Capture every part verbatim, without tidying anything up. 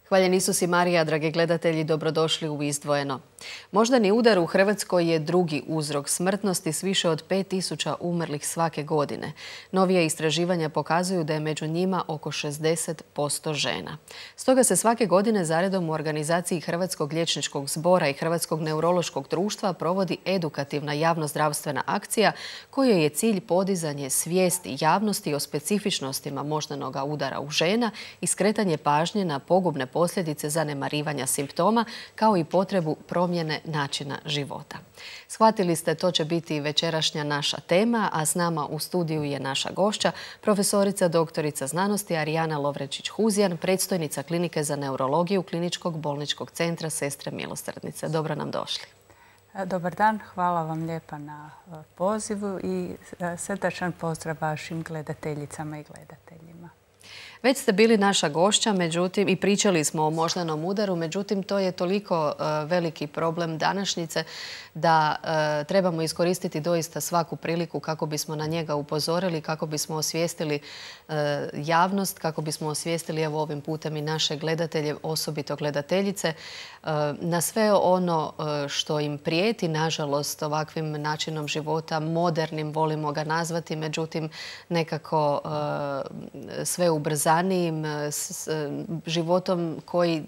Hvaljen Isus i Marija, dragi gledatelji, dobrodošli u Izdvojeno. Moždani udar u Hrvatskoj je drugi uzrok smrtnosti s više od pet tisuća umrlih svake godine. Novije istraživanja pokazuju da je među njima oko šezdeset posto žena. Stoga se svake godine zaredom u organizaciji Hrvatskog liječničkog zbora i Hrvatskog neurološkog društva provodi edukativna javnozdravstvena akcija kojoj je cilj podizanje svijesti javnosti o specifičnostima moždanog udara u žena i skretanje pažnje na pogubne posljedice zanemarivanja simptoma kao i potrebu promjene načina života. Shvatili ste, to će biti večerašnja naša tema, a s nama u studiju je naša gošća, profesorica doktorica znanosti Arijana Lovrečić-Huzjan, predstojnica Klinike za neurologiju Kliničkog bolničkog centra Sestre milosrdnice. Dobro nam došli. Dobar dan, hvala vam lijepa na pozivu i srdačan pozdrav vašim gledateljicama i gledateljima. Već ste bili naša gošća, međutim, i pričali smo o moždanom udaru, međutim, to je toliko veliki problem današnjice da trebamo iskoristiti doista svaku priliku kako bismo na njega upozorili, kako bismo osvijestili javnost, kako bismo osvijestili evo ovim putem i naše gledatelje, osobito gledateljice, na sve ono što im prijeti, nažalost, ovakvim načinom života, modernim, volimo ga nazvati, međutim, nekako sve ubrzanijim životom koji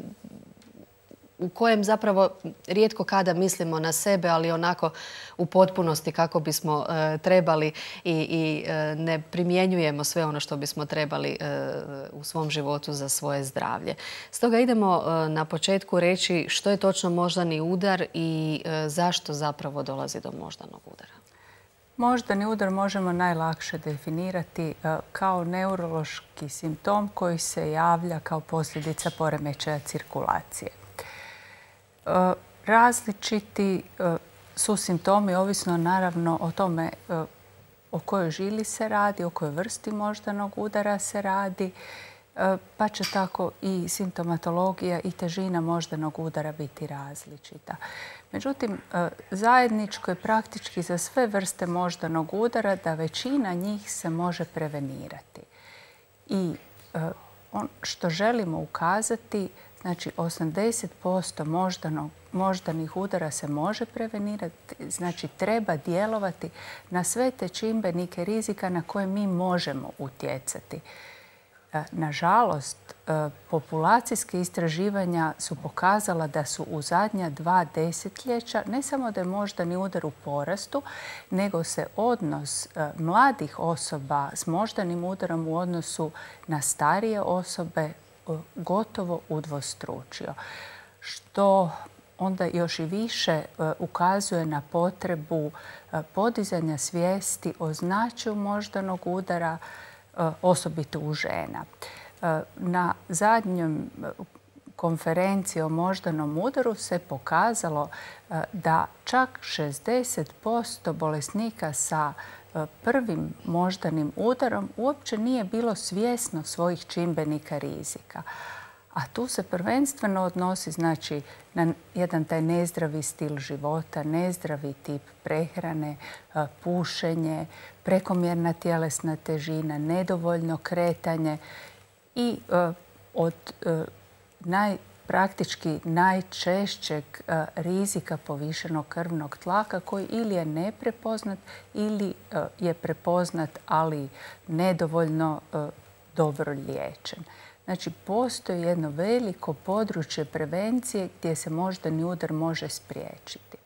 u kojem zapravo rijetko kada mislimo na sebe, ali onako u potpunosti kako bismo e, trebali i, i e, ne primjenjujemo sve ono što bismo trebali e, u svom životu za svoje zdravlje. Stoga idemo e, na početku reći što je točno moždani udar i e, zašto zapravo dolazi do moždanog udara. Moždani udar možemo najlakše definirati kao neurološki simptom koji se javlja kao posljedica poremećaja cirkulacije. Različiti su simptomi, ovisno naravno o tome o kojoj žili se radi, o kojoj vrsti moždanog udara se radi, pa će tako i simptomatologija i težina moždanog udara biti različita. Međutim, zajedničko je praktički za sve vrste moždanog udara da većina njih se može prevenirati. I on što želimo ukazati, znači osamdeset posto moždanih udara se može prevenirati, znači treba djelovati na sve te čimbenike rizika na koje mi možemo utjecati. Nažalost, populacijske istraživanja su pokazala da su u zadnja dva desetljeća ne samo da je moždani udar u porastu, nego se odnos mladih osoba s moždanim udarom u odnosu na starije osobe gotovo udvostručio, što onda još i više ukazuje na potrebu podizanja svijesti o značaju moždanog udara, osobito u žena. Na zadnjom konferenciji o moždanom udaru se pokazalo da čak šezdeset posto bolesnika sa prvim moždanim udarom uopće nije bilo svjesno svojih čimbenika rizika. A tu se prvenstveno odnosi znači, na jedan taj nezdravi stil života, nezdravi tip prehrane, pušenje, prekomjerna tjelesna težina, nedovoljno kretanje i od naj, praktički najčešćeg rizika povišenog krvnog tlaka koji ili je neprepoznat ili je prepoznat, ali nedovoljno dobro liječen. Znači, postoji jedno veliko područje prevencije gdje se moždani udar može spriječiti.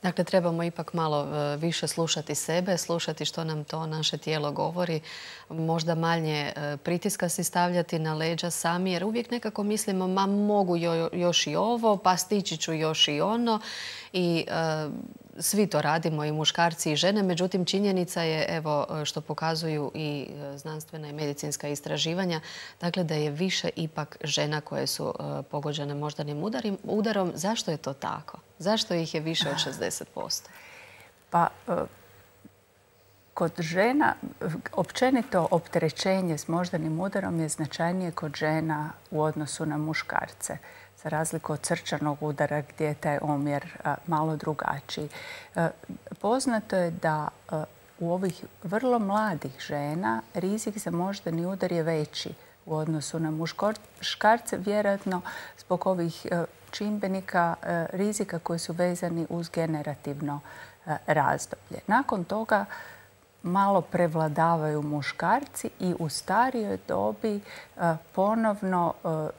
Dakle, trebamo ipak malo više slušati sebe, slušati što nam to naše tijelo govori, možda manje pritiska si stavljati na leđa sami, jer uvijek nekako mislimo ma mogu još i ovo, pa stići ću još i ono i e, svi to radimo, i muškarci i žene. Međutim, činjenica je, evo što pokazuju i znanstvena i medicinska istraživanja, dakle da je više ipak žena koje su e, pogođene moždanim udarom. Zašto je to tako? Zašto ih je više od šezdeset posto? Pa, kod žena, općenito opterećenje s moždanim udarom je značajnije kod žena u odnosu na muškarce, za razliku od srčanog udara gdje je taj omjer malo drugačiji. Poznato je da u ovih vrlo mladih žena rizik za moždani udar je veći u odnosu na muškarce, vjerojatno zbog ovih čimbenika rizika koji su vezani uz generativno razdoblje. Nakon toga malo prevladavaju muškarci i u starijoj dobi ponovno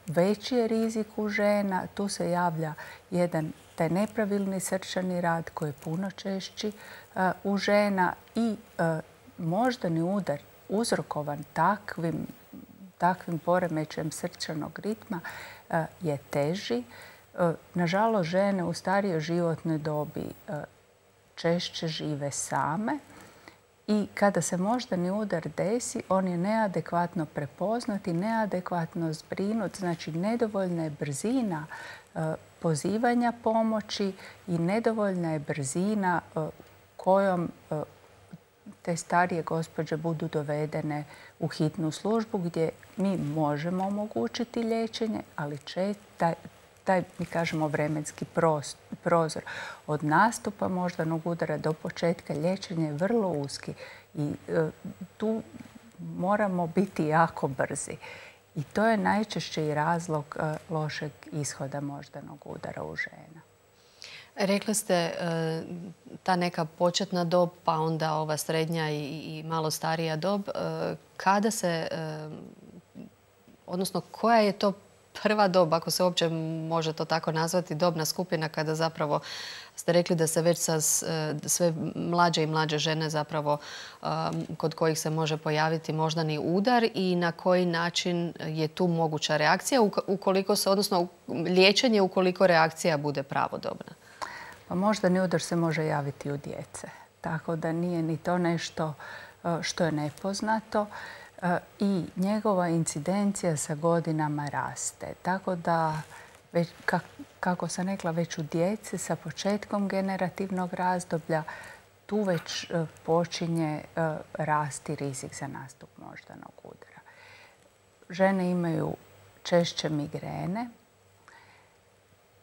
veći je rizik u žena. Tu se javlja jedan taj nepravilni srčani rad koji je puno češći u žena i moždani udar uzrokovan takvim, takvim poremećajem srčanog ritma je teži. Nažalost, žene u starijoj životnoj dobi češće žive same i kada se moždani udar desi, on je neadekvatno prepoznat i neadekvatno zbrinut, znači nedovoljna je brzina pozivanja pomoći i nedovoljna je brzina kojom te starije gospođe budu dovedene u hitnu službu gdje mi možemo omogućiti liječenje, ali taj, taj, mi kažemo, vremenski prozor od nastupa moždanog udara do početka liječenja je vrlo uski i tu moramo biti jako brzi. I to je najčešće i razlog lošeg ishoda moždanog udara u žena. Rekli ste ta neka početna dob, pa onda ova srednja i malo starija dob. Kada se, odnosno koja je to prva dob, ako se uopće može to tako nazvati, dobna skupina kada zapravo ste rekli da se već sa sve mlađe i mlađe žene zapravo kod kojih se može pojaviti moždani udar i na koji način je tu moguća reakcija, ukoliko se, odnosno liječenje ukoliko reakcija bude pravodobna? Pa moždani udar se može javiti u djece, tako da nije ni to nešto što je nepoznato i njegova incidencija sa godinama raste. Tako da, već, kako sam rekla, već u djeci sa početkom generativnog razdoblja tu već počinje rasti rizik za nastup moždanog udara. Žene imaju češće migrene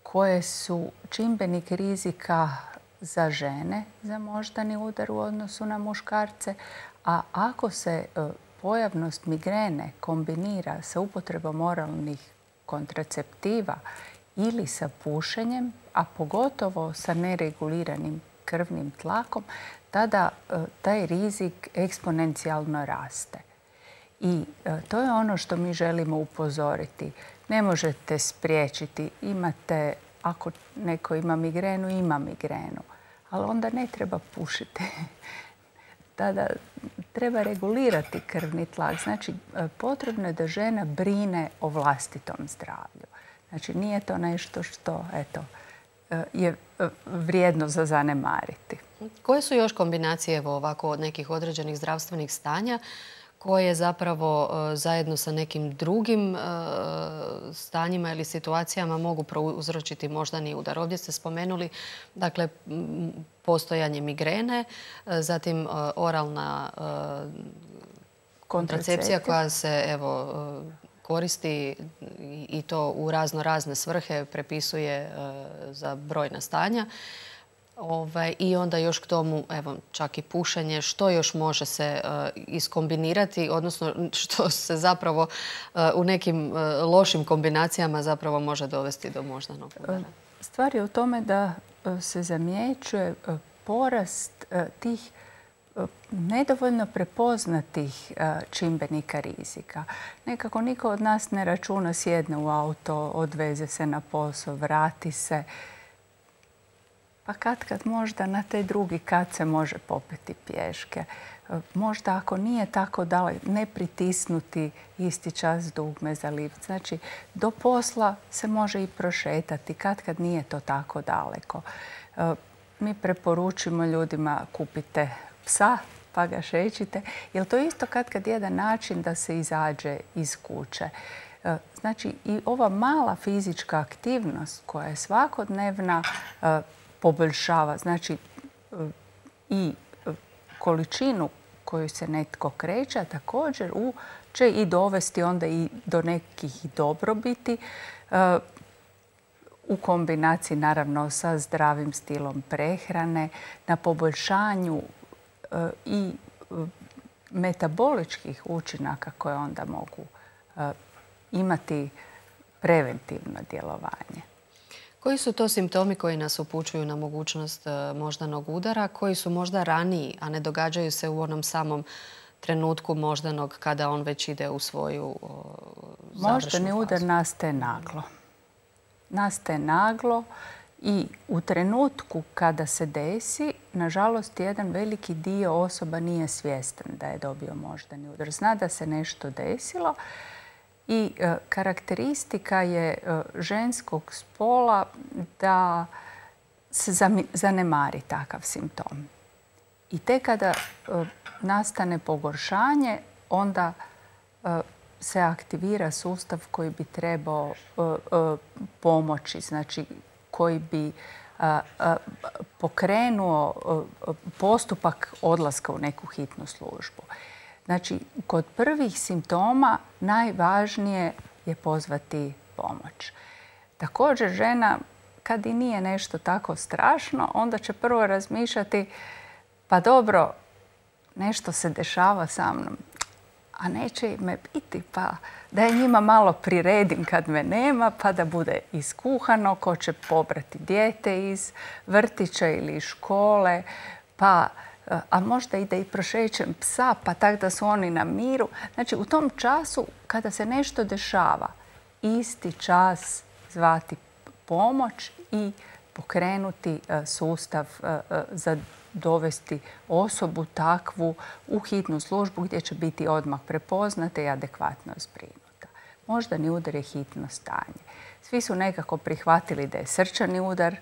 koje su čimbenik rizika za žene za moždani udar u odnosu na muškarce, a ako se pojavnost migrene kombinira sa upotrebom oralnih kontraceptiva ili sa pušenjem, a pogotovo sa nereguliranim krvnim tlakom, tada taj rizik eksponencijalno raste. I to je ono što mi želimo upozoriti. Ne možete spriječiti, imate, ako neko ima migrenu, ima migrenu, ali onda ne treba pušiti. Tada treba regulirati krvni tlak. Znači, potrebno je da žena brine o vlastitom zdravlju. Znači, nije to nešto što, eto, je vrijedno za zanemariti. Koje su još kombinacije, evo, ovako, od nekih određenih zdravstvenih stanja koje zapravo zajedno sa nekim drugim stanjima ili situacijama mogu prouzročiti moždani udar? Ovdje ste spomenuli, dakle, postojanje migrene, zatim oralna kontracepcija koja se, evo, koristi i to u razno razne svrhe, prepisuje za brojna stanja. I onda još k tomu, evo, čak i pušenje. Što još može se iskombinirati, odnosno što se zapravo u nekim lošim kombinacijama zapravo može dovesti do moždanog udara? Stvar je u tome da se zamjećuje porast tih nedovoljno prepoznatih čimbenika rizika. Nekako niko od nas ne računa, sjedne u auto, odveze se na posao, vrati se. Pa kad kad možda na taj drugi kat se može popeti pješke. Možda ako nije tako daleko, ne pritisnuti isti čas dugme za lift. Znači, do posla se može i prošetati, kad kad nije to tako daleko. Mi preporučimo ljudima kupite psa pa ga šećite, jer to je isto kad kad jedan način da se izađe iz kuće. Znači, i ova mala fizička aktivnost koja je svakodnevna poboljšava, znači i količinu koju se netko kreće, a također će i dovesti onda i do nekih dobrobiti u kombinaciji naravno sa zdravim stilom prehrane, na poboljšanju i metaboličkih učinaka koje onda mogu imati preventivno djelovanje. Koji su to simptomi koji nas upućuju na mogućnost moždanog udara, koji su možda raniji, a ne događaju se u onom samom trenutku moždanog kada on već ide u svoju završnu fazu? Moždani udar nastaje naglo. Nastaje naglo i u trenutku kada se desi, nažalost, jedan veliki dio osoba nije svjestan da je dobio moždani udar. Zna da se nešto desilo i e, karakteristika je e, ženskog spola da se zanemari takav simptom. I tek kada e, nastane pogoršanje, onda e, se aktivira sustav koji bi trebao e, e, pomoći, znači koji bi a, a, pokrenuo a, postupak odlaska u neku hitnu službu. Znači, kod prvih simptoma najvažnije je pozvati pomoć. Također, žena, kad i nije nešto tako strašno, onda će prvo razmišljati, pa dobro, nešto se dešava sa mnom, a neće me biti, pa da je njima malo priredim kad me nema, pa da bude iskuhano, ko će pobrati dijete iz vrtića ili iz škole, pa, a možda i da i prošećem psa, pa tak da su oni na miru. Znači, u tom času, kada se nešto dešava, isti čas zvati pomoć i pokrenuti sustav za dovesti osobu takvu u hitnu službu gdje će biti odmah prepoznata i adekvatno zbrinuta. Moždani udar je hitno stanje. Svi su nekako prihvatili da je srčani udar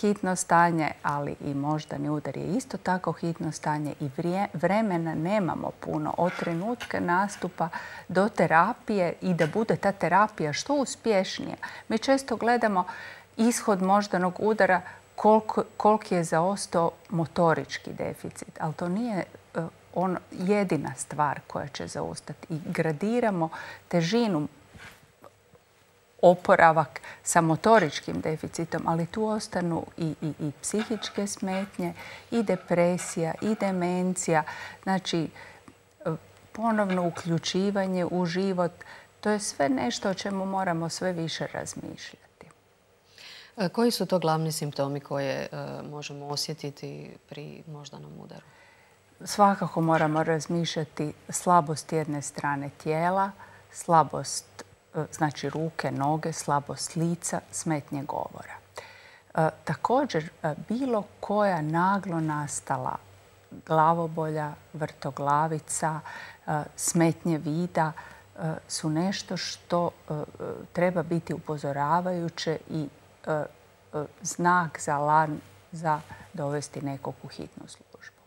hitno stanje, ali i moždani udar je isto tako hitno stanje i vremena nemamo puno od trenutka nastupa do terapije i da bude ta terapija što uspješnija. Mi često gledamo ishod moždanog udara koliki je zaostao motorički deficit, ali to nije on jedina stvar koja će zaostati. I gradiramo težinu oporavak sa motoričkim deficitom, ali tu ostanu i, i, i psihičke smetnje, i depresija, i demencija. Znači, ponovno uključivanje u život, to je sve nešto o čemu moramo sve više razmišljati. Koji su to glavni simptomi koje možemo osjetiti pri moždanom udaru? Svakako moramo razmišljati slabost jedne strane tijela, slabost znači ruke, noge, slabost lica, smetnje govora. Također, bilo koja naglo nastala glavobolja, vrtoglavica, smetnje vida su nešto što treba biti upozoravajuće i znak za alarm za dovesti nekog u hitnu službu.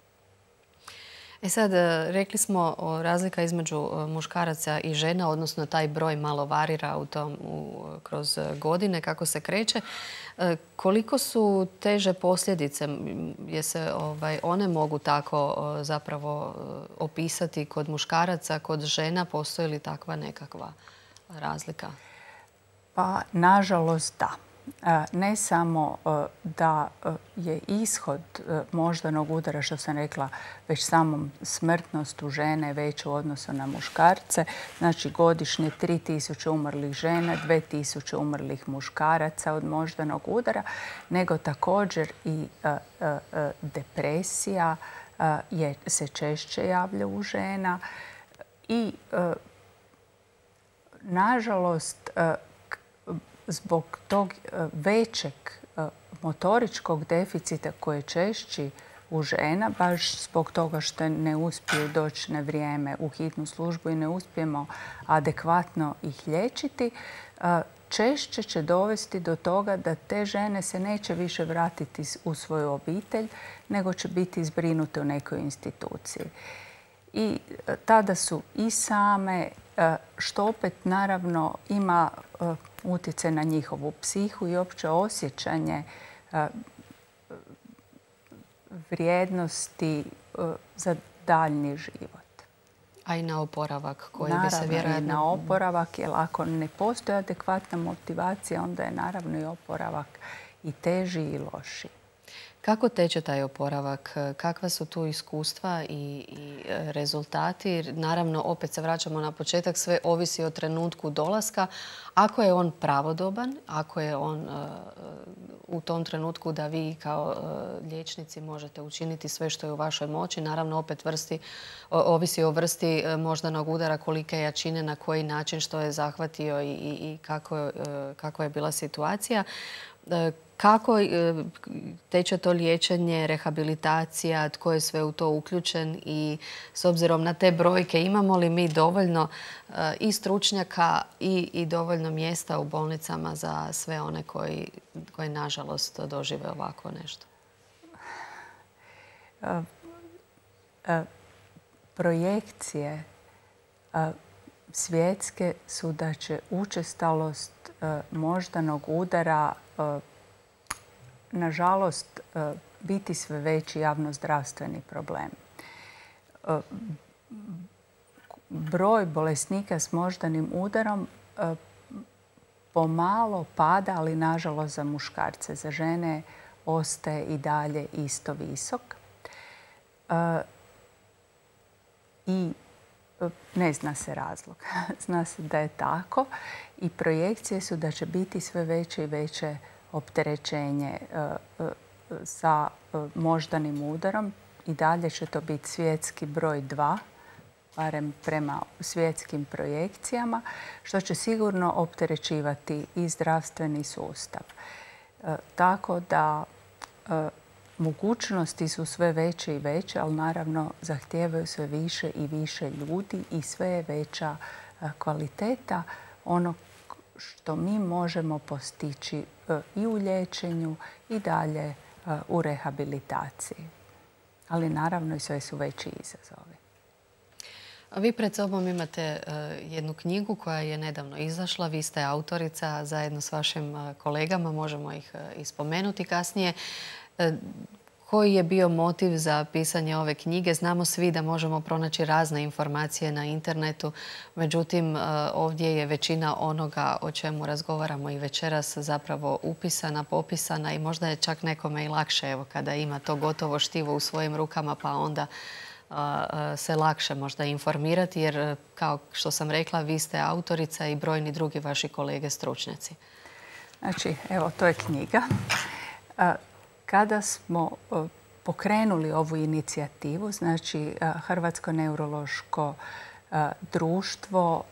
E sad, rekli smo razlika između muškaraca i žena, odnosno taj broj malo varira u tom, u, kroz godine kako se kreće. Koliko su teže posljedice? Je se, ovaj, one mogu tako zapravo opisati kod muškaraca, kod žena? Postoji li takva nekakva razlika? Pa, nažalost, da. Ne samo da je ishod moždanog udara, što sam rekla, već samom smrtnost u žene veća u odnosu na muškarce. Znači, godišnje tri tisuće umrlih žena, dvije tisuće umrlih muškaraca od moždanog udara, nego također i depresija je, se češće javlja u žena i, nažalost, zbog tog većeg motoričkog deficita koji je češći u žena, baš zbog toga što ne uspiju doći na vrijeme u hitnu službu i ne uspijemo adekvatno ih liječiti, češće će dovesti do toga da te žene se neće više vratiti u svoju obitelj, nego će biti zbrinute u nekoj instituciji. I tada su i same, što opet naravno ima utjecaj na njihovu psihu i opće osjećanje vrijednosti za daljnji život. A i na oporavak koji bi se vjerojatno... Naravno i na oporavak, jer ako ne postoji adekvatna motivacija, onda je naravno i oporavak i teži i loši. Kako teče taj oporavak? Kakva su tu iskustva i, i rezultati? Naravno, opet se vraćamo na početak, sve ovisi o trenutku dolaska. Ako je on pravodoban, ako je on uh, u tom trenutku da vi kao uh, liječnici možete učiniti sve što je u vašoj moći, naravno opet vrsti, ovisi o vrsti moždanog udara, kolike jačine, na koji način, što je zahvatio i, i, i kako, uh, kako je bila situacija. Uh, Kako teče to liječenje, rehabilitacija, tko je sve u to uključen i s obzirom na te brojke imamo li mi dovoljno i stručnjaka i, i dovoljno mjesta u bolnicama za sve one koji, koji nažalost dožive ovako nešto? Projekcije svjetske su da će učestalost moždanog udara nažalost biti sve veći javnozdravstveni problem. Broj bolesnika s moždanim udarom pomalo pada, ali nažalost za muškarce. Za žene ostaje i dalje isto visok. I ne zna se razlog. Zna se da je tako i projekcije su da će biti sve veće i veće opterećenje sa moždanim udarom. I dalje će to biti svjetski broj dva, barem prema svjetskim projekcijama, što će sigurno opterećivati i zdravstveni sustav. Tako da mogućnosti su sve veće i veće, ali naravno zahtijevaju sve više i više ljudi i sve je veća kvaliteta onog što mi možemo postići i u liječenju i dalje u rehabilitaciji. Ali naravno i sve su veći izazovi. Vi pred sobom imate jednu knjigu koja je nedavno izašla. Vi ste autorica zajedno s vašim kolegama, možemo ih ispomenuti kasnije. Koji je bio motiv za pisanje ove knjige? Znamo svi da možemo pronaći razne informacije na internetu, međutim ovdje je većina onoga o čemu razgovaramo i večeras zapravo upisana, popisana i možda je čak nekome i lakše evo, kada ima to gotovo štivo u svojim rukama pa onda se lakše možda informirati jer kao što sam rekla vi ste autorica i brojni drugi vaši kolege stručnjaci. Znači, evo to je knjiga. Kada smo pokrenuli ovu inicijativu, znači Hrvatsko neurološko društvo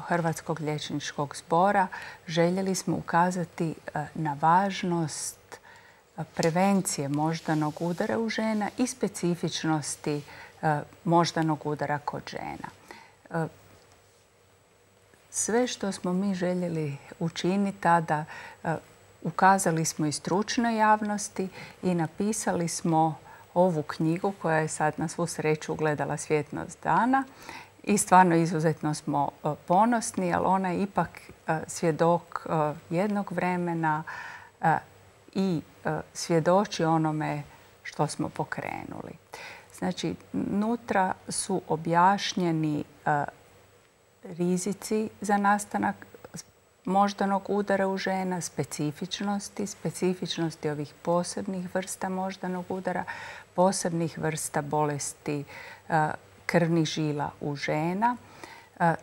Hrvatskog liječničkog zbora, željeli smo ukazati na važnost prevencije moždanog udara u žena i specifičnosti moždanog udara kod žena. Sve što smo mi željeli učiniti tada, ukazali smo i stručnoj javnosti i napisali smo ovu knjigu koja je sad na svu sreću ugledala svjetlost dana i stvarno izuzetno smo ponosni, ali ona je ipak svjedok jednog vremena i svjedoči onome što smo pokrenuli. Znači, nutra su objašnjeni rizici za nastanak moždanog udara u žena, specifičnosti, specifičnosti ovih posebnih vrsta moždanog udara, posebnih vrsta bolesti krvnih žila u žena,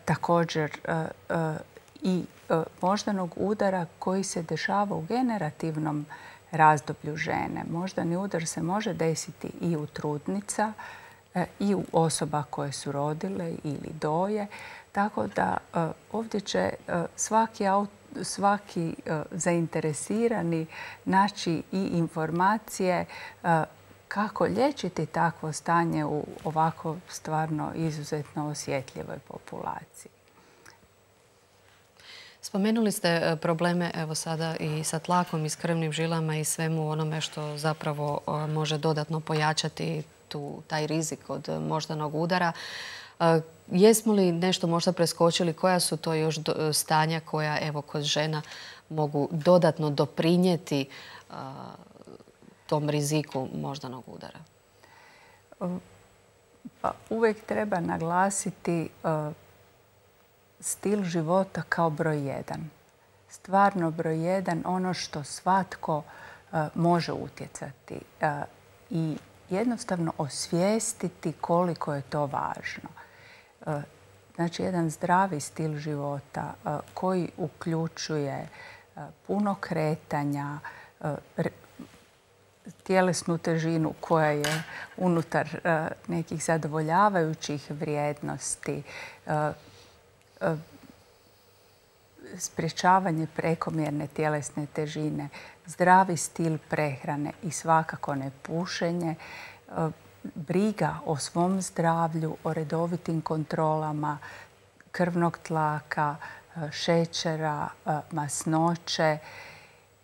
također i moždanog udara koji se dešava u generativnom razdoblju žene. Moždani udar se može desiti i u trudnica i u osoba koje su rodile ili doje. Tako da ovdje će svaki, svaki zainteresirani naći i informacije kako liječiti takvo stanje u ovako stvarno izuzetno osjetljivoj populaciji. Spomenuli ste probleme evo sada i sa tlakom i s krvnim žilama i svemu onome što zapravo može dodatno pojačati tu, taj rizik od moždanog udara. Jesmo li nešto možda preskočili? Koja su to još stanja koja evo kod žena mogu dodatno doprinijeti tom riziku moždanog udara? Pa uvijek treba naglasiti stil života kao broj jedan. Stvarno broj jedan, ono što svatko može utjecati i jednostavno osvijestiti koliko je to važno. Znači, jedan zdravi stil života koji uključuje puno kretanja, tjelesnu težinu koja je unutar nekih zadovoljavajućih vrijednosti, sprječavanje prekomjerne tjelesne težine, zdravi stil prehrane i svakako ne pušenje, briga o svom zdravlju, o redovitim kontrolama krvnog tlaka, šećera, masnoće.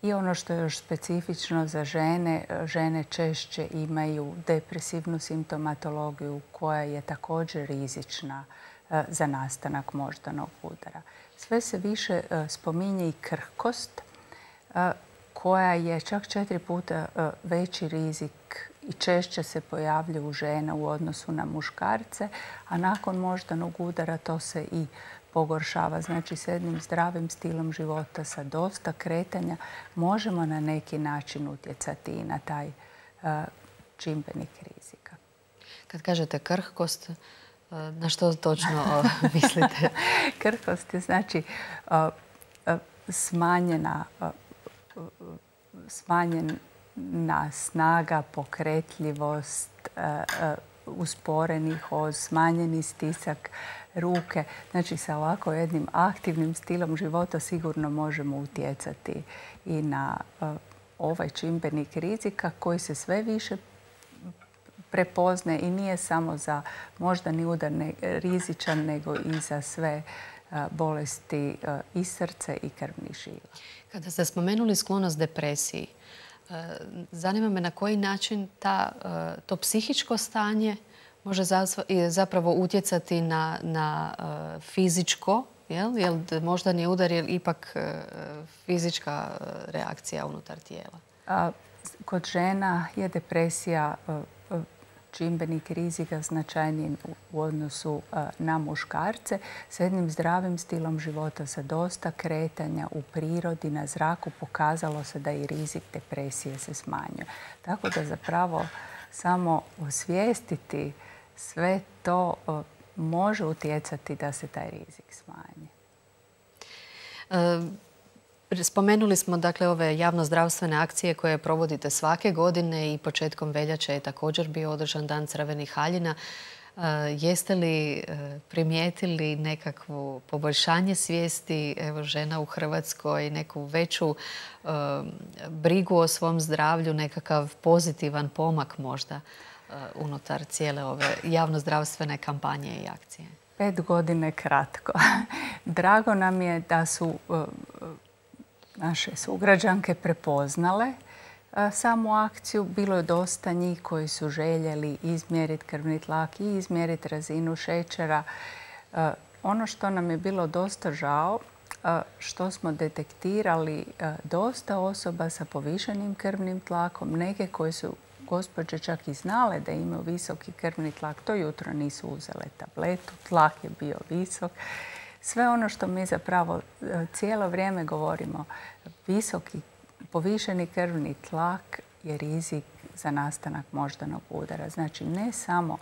I ono što je još specifično za žene, žene češće imaju depresivnu simptomatologiju koja je također rizična za nastanak moždanog udara. Sve se više spominje i krhkost koja je čak četiri puta veći rizik i češće se pojavljuje u žena u odnosu na muškarce, a nakon moždanog udara to se i pogoršava. Znači, s jednim zdravim stilom života, sa dosta kretanja, možemo na neki način utjecati i na taj čimbenik rizika. Kad kažete krhkost, na što točno mislite? Krhkost je znači smanjena, smanjena snaga, pokretljivost, usporeni hoz, smanjeni stisak ruke. Znači, sa ovako jednim aktivnim stilom života sigurno možemo utjecati i na ovaj čimbenik rizika koji se sve više prepozne i nije samo za moždani udar rizičan, nego i za sve bolesti i srce i krvnih žila. Kada ste spomenuli sklonost depresiji, zanima me na koji način ta, to psihičko stanje može zapravo utjecati na, na fizičko, jel? Jer moždani udar je ipak fizička reakcija unutar tijela. Kod žena je depresija čimbenik rizika značajniji u odnosu na muškarce. S jednim zdravim stilom života, sa dosta kretanja u prirodi, na zraku, pokazalo se da i rizik depresije se smanjuje. Tako da zapravo samo osvijestiti sve to može utjecati da se taj rizik smanji. Spomenuli smo dakle ove javnozdravstvene akcije koje provodite svake godine i početkom veljače je također bio održan Dan crvenih haljina. Jeste li primijetili nekakvo poboljšanje svijesti evo, žena u Hrvatskoj, neku veću e, brigu o svom zdravlju, nekakav pozitivan pomak možda e, unutar cijele ove javnozdravstvene kampanje i akcije? Pet godine kratko. Drago nam je da su e, naše sugrađanke prepoznale samu akciju. Bilo je dosta njih koji su željeli izmjeriti krvni tlak i izmjeriti razinu šećera. Ono što nam je bilo dosta žao, što smo detektirali dosta osoba sa povišenim krvnim tlakom, neke koje su gospođe čak i znale da imaju visoki krvni tlak, to jutro nisu uzele tabletu, tlak je bio visok. Sve ono što mi zapravo cijelo vrijeme govorimo, visoki, povišeni krvni tlak je rizik za nastanak moždanog udara. Znači, ne samo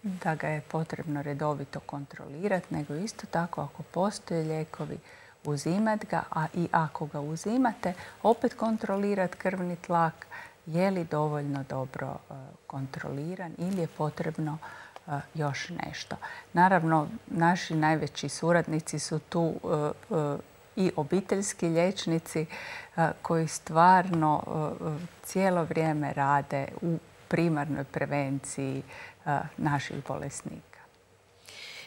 da ga je potrebno redovito kontrolirati, nego isto tako ako postoje lijekovi, uzimati ga, a i ako ga uzimate, opet kontrolirati krvni tlak, je li dovoljno dobro kontroliran ili je potrebno još nešto. Naravno, naši najveći suradnici su tu i obiteljski liječnici koji stvarno cijelo vrijeme rade u primarnoj prevenciji naših bolesnika.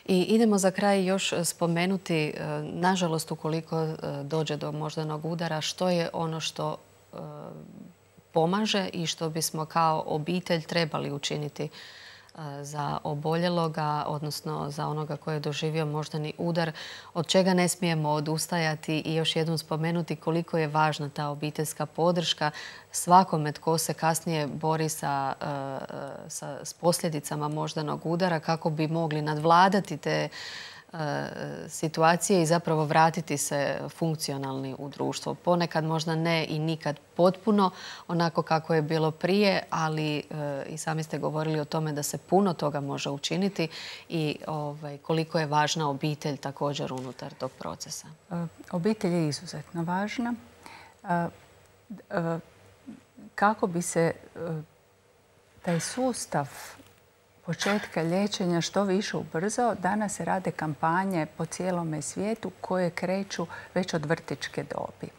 I idemo za kraj još spomenuti, nažalost, ukoliko dođe do moždanog udara, što je ono što pomaže i što bismo kao obitelj trebali učiniti za oboljeloga, odnosno za onoga koji je doživio moždani udar, od čega ne smijemo odustajati i još jednom spomenuti koliko je važna ta obiteljska podrška svakome tko se kasnije bori sa, sa, s posljedicama moždanog udara kako bi mogli nadvladati te situacije i zapravo vratiti se funkcionalni u društvo. Ponekad možda ne i nikad potpuno onako kako je bilo prije, ali i sami ste govorili o tome da se puno toga može učiniti i ovaj, koliko je važna obitelj također unutar tog procesa. Obitelj je izuzetno važna. Kako bi se taj sustav početka liječenja što više ubrzao, danas se rade kampanje po cijelome svijetu koje kreću već od vrtićke dobi.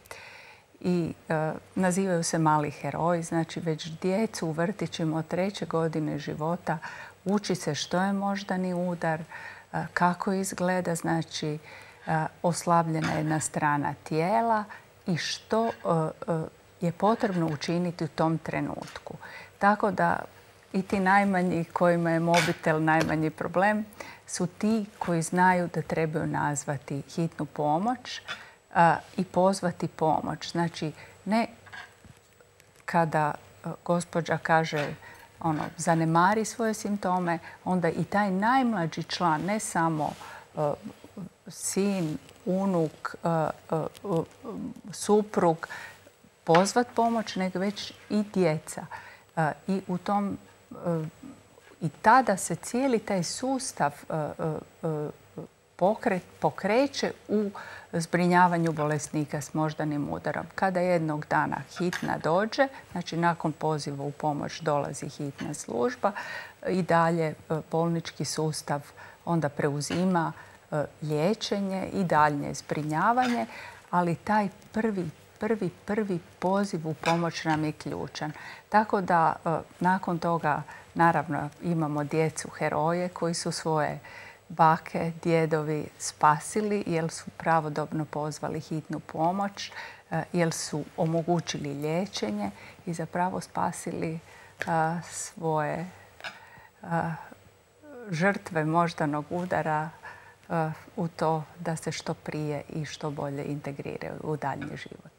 I e, nazivaju se mali heroji, znači već djecu u vrtićima od treće godine života uči se što je moždani udar, e, kako izgleda, znači e, oslabljena jedna strana tijela i što e, e, je potrebno učiniti u tom trenutku. Tako da i ti najmanji kojima je mobitel najmanji problem su ti koji znaju da trebaju nazvati hitnu pomoć a, i pozvati pomoć. Znači, ne kada a, gospođa kaže ono, zanemari svoje simptome, onda i taj najmlađi član, ne samo a, sin, unuk, a, a, a, suprug, pozvat pomoć, nego već i djeca. A, I u tom I tada se cijeli taj sustav pokreće u zbrinjavanju bolesnika s moždanim udarom. Kada jednog dana hitna dođe, znači nakon poziva u pomoć dolazi hitna služba i dalje bolnički sustav onda preuzima liječenje i daljnje zbrinjavanje, ali taj prvi prvi, prvi poziv u pomoć nam je ključan. Tako da nakon toga naravno imamo djecu heroje koji su svoje bake, djedovi spasili jer su pravodobno pozvali hitnu pomoć, jer su omogućili liječenje i zapravo spasili svoje žrtve moždanog udara u to da se što prije i što bolje integriraju u daljnji život.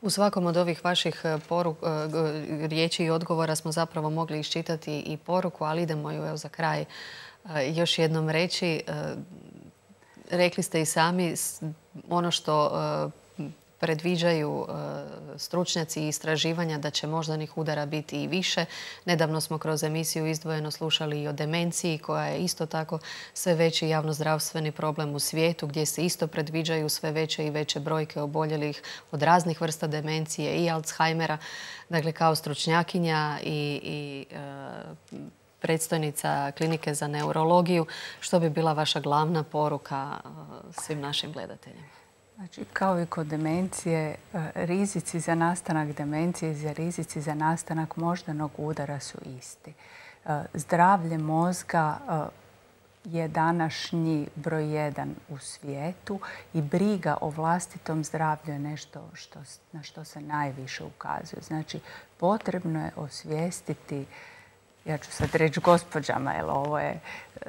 U svakom od ovih vaših poruk, riječi i odgovora smo zapravo mogli iščitati i poruku, ali idemo ju evo za kraj još jednom reći. Rekli ste i sami ono što predviđaju stručnjaci i istraživanja da će moždanih udara biti i više. Nedavno smo kroz emisiju Izdvojeno slušali i o demenciji koja je isto tako sve veći javnozdravstveni problem u svijetu gdje se isto predviđaju sve veće i veće brojke oboljelih od raznih vrsta demencije i Alzheimera. Dakle, kao stručnjakinja i, i e, predstojnica klinike za neurologiju, što bi bila vaša glavna poruka svim našim gledateljima? Znači, kao i kod demencije, rizici za nastanak demencije i rizici za nastanak moždanog udara su isti. Zdravlje mozga je današnji broj jedan u svijetu i briga o vlastitom zdravlju je nešto što, na što se najviše ukazuje. Znači, potrebno je osvijestiti, ja ću sad reći gospođama, jer ovo je,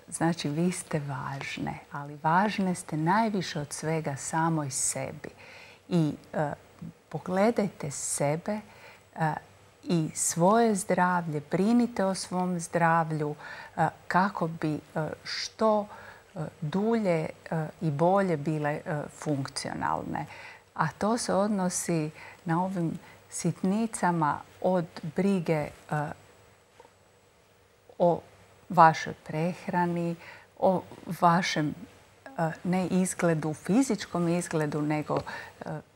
znači vi ste važne, ali važne ste najviše od svega samoj sebi. I e, pogledajte sebe e, i svoje zdravlje, brinite o svom zdravlju e, kako bi e, što e, dulje e, i bolje bile e, funkcionalne. A to se odnosi na ovim sitnicama od brige e, o vašoj prehrani, o vašem ne izgledu, fizičkom izgledu, nego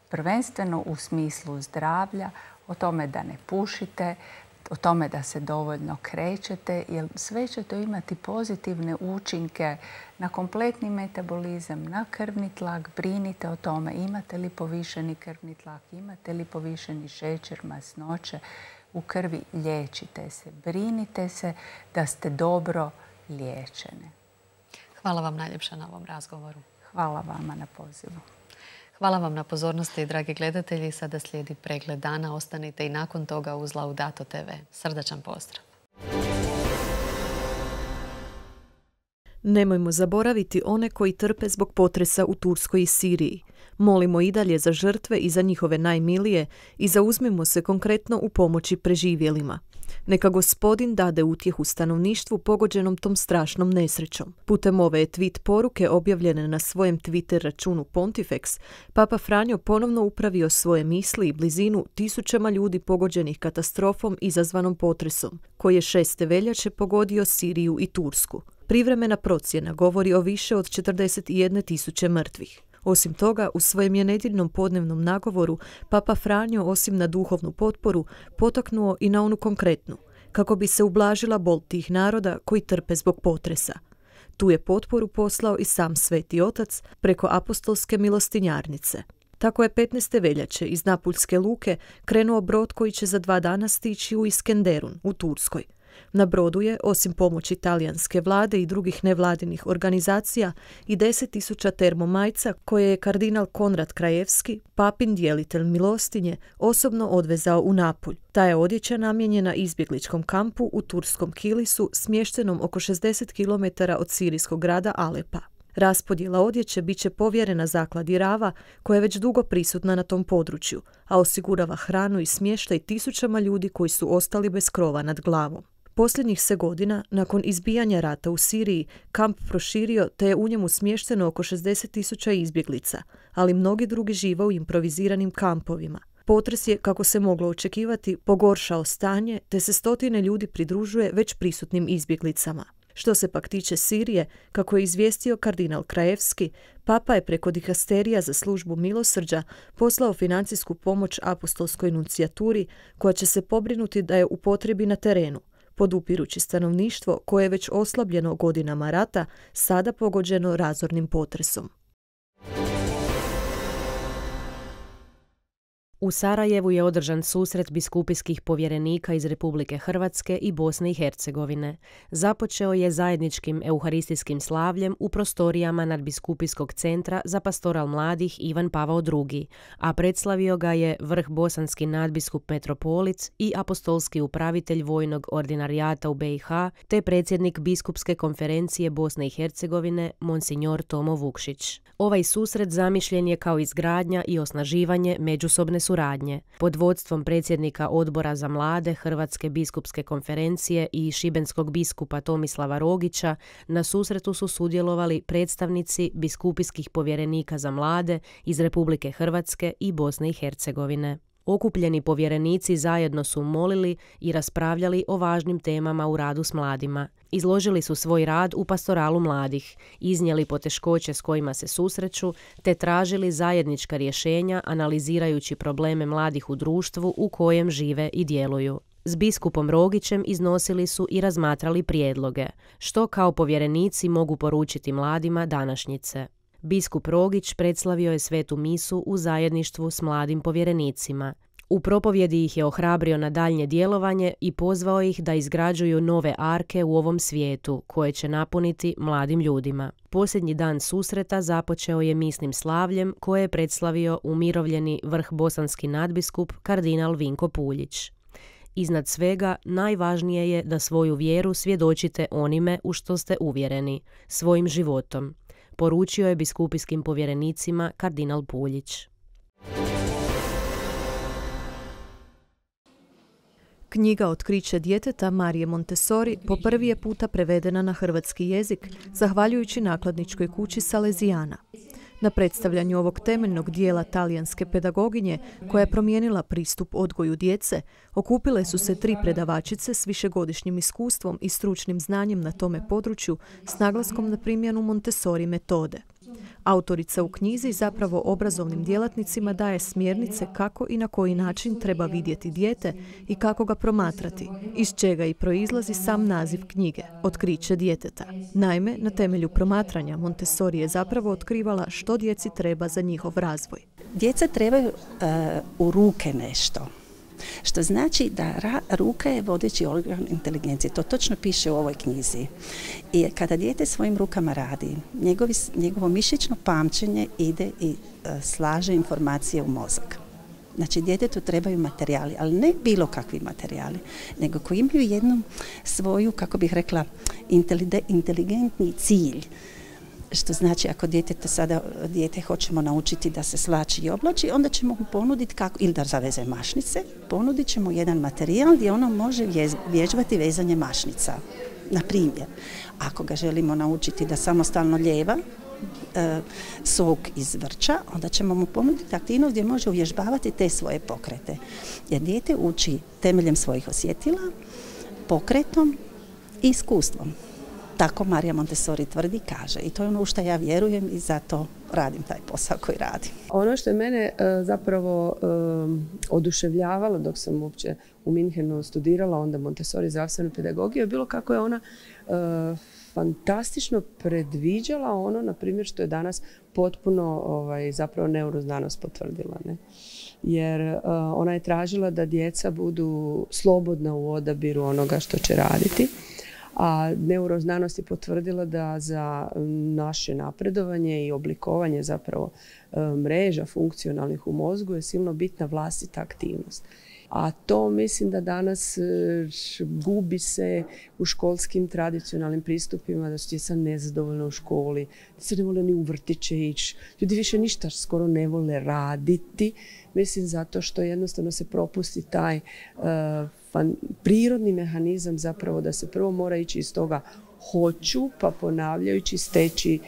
prvenstveno u smislu zdravlja, o tome da ne pušite, o tome da se dovoljno krećete, jer sve će to imati pozitivne učinke na kompletni metabolizam, na krvni tlak. Brinite o tome imate li povišeni krvni tlak, imate li povišeni šećer, masnoće u krvi, liječite se. Brinite se da ste dobro liječene. Hvala vam najljepša na ovom razgovoru. Hvala vama na pozivu. Hvala vam na pozornosti, dragi gledatelji. Sada slijedi pregled dana. Ostanite i nakon toga uz Laudato te ve. Srdačan pozdrav. Nemojmo zaboraviti one koji trpe zbog potresa u Turskoj i Siriji. Molimo i dalje za žrtve i za njihove najmilije i zauzmimo se konkretno u pomoći preživjelima. Neka Gospodin dade utjehu stanovništvu pogođenom tom strašnom nesrećom. Putem ove tweet poruke objavljene na svojem Twitter računu Pontifex, Papa Franjo ponovno upravio svoje misli i blizinu tisućama ljudi pogođenih katastrofom izazvanom potresom, koji je šeste veljače pogodio Siriju i Tursku. Privremena procjena govori o više od četrdeset jedne tisuće mrtvih. Osim toga, u svojem je nedjeljnom podnevnom nagovoru Papa Franjo, osim na duhovnu potporu, potaknuo i na onu konkretnu, kako bi se ublažila bol tih naroda koji trpe zbog potresa. Tu je potporu poslao i sam Sveti Otac preko apostolske milostinjarnice. Tako je petnaeste veljače iz Napuljske luke krenuo brod koji će za dva dana stići u Iskenderun u Turskoj. Na brodu je, osim pomoći talijanske vlade i drugih nevladinih organizacija, i deset tisuća termomajca koje je kardinal Konrad Krajevski, papin djelitelj milostinje, osobno odvezao u Napulj. Ta je odjeća namijenjena izbjegličkom kampu u turskom Kilisu, smještenom oko šezdeset kilometara od sirijskog grada Alepa. Raspodjela odjeće bit će povjerena zakladi Rava, koja je već dugo prisutna na tom području, a osigurava hranu i smještaj tisućama ljudi koji su ostali bez krova nad glavom. Posljednjih se godina, nakon izbijanja rata u Siriji, kamp proširio te je u njemu smješteno oko šezdeset tisuća izbjeglica, ali mnogi drugi žive u improviziranim kampovima. Potres je, kako se moglo očekivati, pogoršao stanje, te se stotine ljudi pridružuje već prisutnim izbjeglicama. Što se pak tiče Sirije, kako je izvijestio kardinal Krajevski, Papa je preko dikasterija za službu milosrđa poslao financijsku pomoć apostolskoj nuncijaturi, koja će se pobrinuti da je upotrebi na terenu, podupirući stanovništvo koje je već oslabljeno godinama rata, sada pogođeno razornim potresom. U Sarajevu je održan susret biskupijskih povjerenika iz Republike Hrvatske i Bosne i Hercegovine. Započeo je zajedničkim euharistijskim slavljem u prostorijama nadbiskupijskog centra za pastoral mladih Ivan Pavao drugi, a predslavio ga je vrh bosanski nadbiskup metropolic i apostolski upravitelj vojnog ordinarijata u B i H, te predsjednik biskupske konferencije Bosne i Hercegovine, monsignor Tomo Vukšić. Ovaj susret zamišljen je kao izgradnja i osnaživanje međusobne suradnje. Pod vodstvom predsjednika Odbora za mlade Hrvatske biskupske konferencije i šibenskog biskupa Tomislava Rogića na susretu su sudjelovali predstavnici biskupijskih povjerenika za mlade iz Republike Hrvatske i Bosne i Hercegovine. Okupljeni povjerenici zajedno su molili i raspravljali o važnim temama u radu s mladima. Izložili su svoj rad u pastoralu mladih, iznijeli poteškoće s kojima se susreću, te tražili zajednička rješenja analizirajući probleme mladih u društvu u kojem žive i djeluju. S biskupom Rogićem iznosili su i razmatrali prijedloge, što kao povjerenici mogu poručiti mladima današnjice. Biskup Rogić predslavio je svetu misu u zajedništvu s mladim povjerenicima. U propovjedi ih je ohrabrio na daljnje djelovanje i pozvao ih da izgrađuju nove arke u ovom svijetu, koje će napuniti mladim ljudima. Posljednji dan susreta započeo je misnim slavljem koje je predslavio umirovljeni vrh bosanski nadbiskup kardinal Vinko Puljić. Iznad svega, najvažnije je da svoju vjeru svjedočite onime u što ste uvjereni, svojim životom, poručio je biskupijskim povjerenicima kardinal Puljić. Knjiga Otkriće djeteta Marije Montessori po prvi je puta prevedena na hrvatski jezik, zahvaljujući nakladničkoj kući Salezijana. Na predstavljanju ovog temeljnog dijela talijanske pedagoginje, koja je promijenila pristup odgoju djece, okupile su se tri predavačice s višegodišnjim iskustvom i stručnim znanjem na tome području s naglaskom na primjenu Montessori metode. Autorica u knjizi zapravo obrazovnim djelatnicima daje smjernice kako i na koji način treba vidjeti dijete i kako ga promatrati, iz čega i proizlazi sam naziv knjige Otkriće djeteta. Naime, na temelju promatranja Montessori je zapravo otkrivala što djeci treba za njihov razvoj. Djeca trebaju uh, u ruke nešto. Što znači da ra, ruka je vodeći organ inteligencije. To točno piše u ovoj knjizi. I kada dijete svojim rukama radi, njegovi, njegovo mišićno pamćenje ide i uh, slaže informacije u mozak. Znači, djetetu trebaju materijali, ali ne bilo kakvi materijali, nego koji imaju jednu svoju, kako bih rekla, inteligentni cilj. Što znači, ako djetete sada dijete hoćemo naučiti da se slači i oblači, onda ćemo mu ponuditi kako, ili da zaveze mašnice, ponudit ćemo jedan materijal gdje ono može vježbati vezanje mašnica. Na primjer, ako ga želimo naučiti da samostalno ljeva e, sok iz vrča, onda ćemo mu ponuditi aktivnost gdje može uvježbavati te svoje pokrete. Jer dijete uči temeljem svojih osjetila, pokretom i iskustvom. Tako Marija Montessori tvrdi, kaže. I to je ono u što ja vjerujem i zato radim taj posao koji radim. Ono što je mene zapravo oduševljavalo dok sam uopće u Minhenu studirala, onda Montessori zdravstvenu pedagogiju, je bilo kako je ona fantastično predviđala ono, na primjer, što je danas potpuno ovaj, zapravo neuroznanost potvrdila. Ne? Jer uh, ona je tražila da djeca budu slobodna u odabiru onoga što će raditi. A neuroznanost je potvrdila da za naše napredovanje i oblikovanje zapravo mreža funkcionalnih u mozgu je silno bitna vlastita aktivnost. A to mislim da danas gubi se u školskim tradicionalnim pristupima, da su djeca nezadovoljna u školi, da se ne vole ni u vrtiće ići. Ljudi više ništa skoro ne vole raditi. Mislim zato što jednostavno se propusti taj uh, fan, prirodni mehanizam zapravo da se prvo mora ići iz toga hoću, pa ponavljajući steći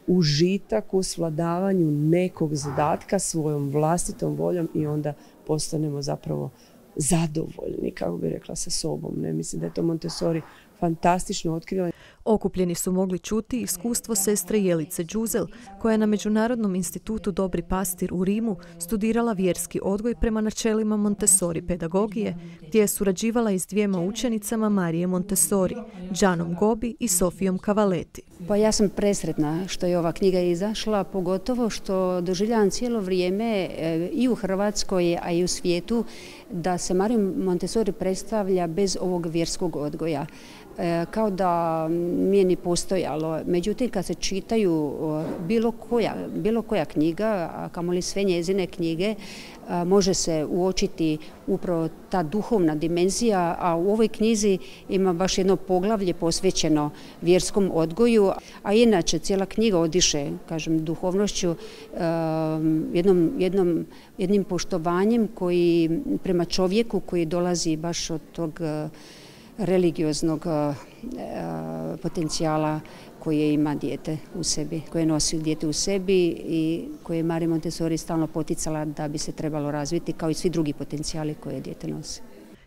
užitak u svladavanju nekog zadatka svojom vlastitom voljom i onda postanemo zapravo zadovoljni, kako bi rekla, sa sobom. Ne? Mislim da je to Montessori fantastično otkrila. Okupljeni su mogli čuti iskustvo sestre Jelice Đuzel, koja je na Međunarodnom institutu Dobri pastir u Rimu studirala vjerski odgoj prema načelima Montessori pedagogije, gdje je surađivala i s dvijema učenicama Marije Montessori, Gianom Gobi i Sofijom Cavalletti. Pa ja sam presretna što je ova knjiga izašla, pogotovo što doživljavam cijelo vrijeme i u Hrvatskoj, a i u svijetu, da se Marija Montessori predstavlja bez ovog vjerskog odgoja. Kao da nije ni postojalo. Međutim, kad se čitaju bilo koja, bilo koja knjiga, a kamoli sve njezine knjige, može se uočiti upravo ta duhovna dimenzija, a u ovoj knjizi ima baš jedno poglavlje posvećeno vjerskom odgoju, a inače cijela knjiga odiše, kažem, duhovnošću, jednom, jednom, jednim poštovanjem koji prema čovjeku koji dolazi baš od tog religioznog potencijala koje ima dijete u sebi, koje nosi dijete u sebi i koje je Marija Montessori stalno poticala da bi se trebalo razviti kao i svi drugi potencijali koje dijete nosi.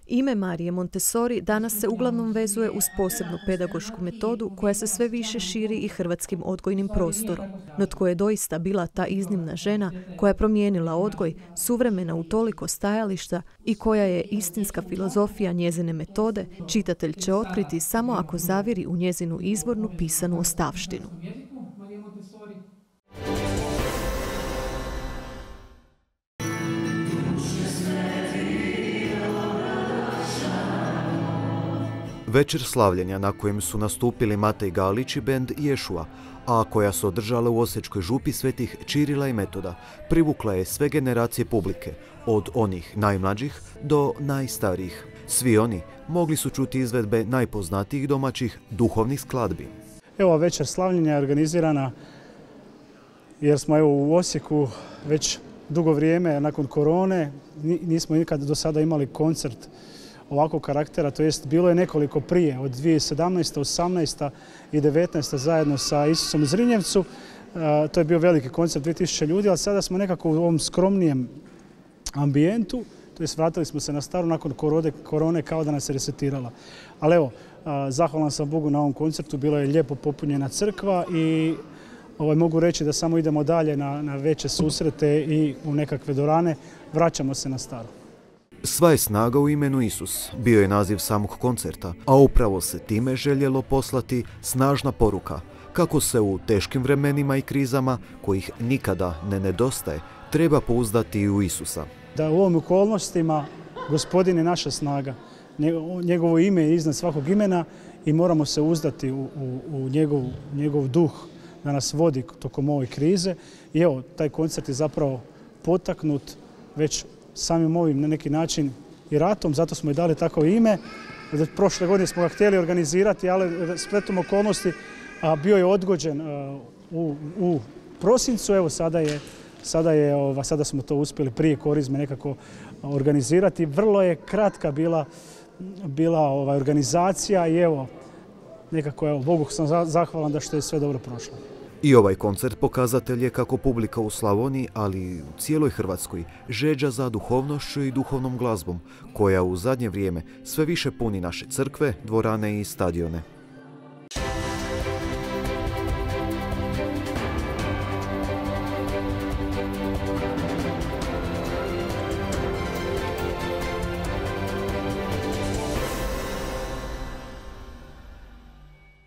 Ime Marije Montessori danas se uglavnom vezuje uz posebnu pedagošku metodu koja se sve više širi i hrvatskim odgojnim prostorom. No tko je doista bila ta iznimna žena koja je promijenila odgoj, suvremena u toliko stajališta i koja je istinska filozofija njezine metode, čitatelj će otkriti samo ako zaviri u njezinu izvornu pisanu ostavštinu. Večer slavljenja na kojem su nastupili Matej Galić i bend Ješua, a koja se održala u Osječkoj župi Svetih Čirila i Metoda, privukla je sve generacije publike, od onih najmlađih do najstarijih. Svi oni mogli su čuti izvedbe najpoznatijih domaćih duhovnih skladbi. Evo, večer slavljenja je organizirana jer smo evo u Osijeku već dugo vrijeme nakon korone, nismo nikad do sada imali koncert ovakvog karaktera, to jest bilo je nekoliko prije, od dvije tisuće sedamnaeste, osamnaeste i devetnaeste zajedno sa Isusom u Zrinjevcu. To je bio veliki koncert, dvije tisuće ljudi, ali sada smo nekako u ovom skromnijem ambijentu, to jest vratili smo se na staru nakon korone kao da nas se resetirala. Ali evo, zahvalan sam Bogu na ovom koncertu, bila je lijepo popunjena crkva i ovaj, mogu reći da samo idemo dalje na, na veće susrete i u nekakve dvorane, vraćamo se na staru. Sva je snaga u imenu Isus bio je naziv samog koncerta, a upravo se time željelo poslati snažna poruka kako se u teškim vremenima i krizama, kojih nikada ne nedostaje, treba pouzdati i u Isusa. Da u ovim okolnostima Gospodin je naša snaga, njegovo ime je iznad svakog imena i moramo se uzdati u, u, u njegov, njegov duh da nas vodi tokom ove krize. I evo, taj koncert je zapravo potaknut već samim ovim na neki način i ratom, zato smo i dali tako ime. Prošle godine smo ga htjeli organizirati, ali spletom okolnosti a bio je odgođen u, u prosincu. Evo sada je, sada je, ova, sada smo to uspjeli prije korizme nekako organizirati. Vrlo je kratka bila, bila ova organizacija i evo, nekako evo, Bogu sam zahvalan da što je sve dobro prošlo. I ovaj koncert pokazatelj je kako publika u Slavoniji, ali i u cijeloj Hrvatskoj, žeđa za duhovnošću i duhovnom glazbom, koja u zadnje vrijeme sve više puni naše crkve, dvorane i stadione.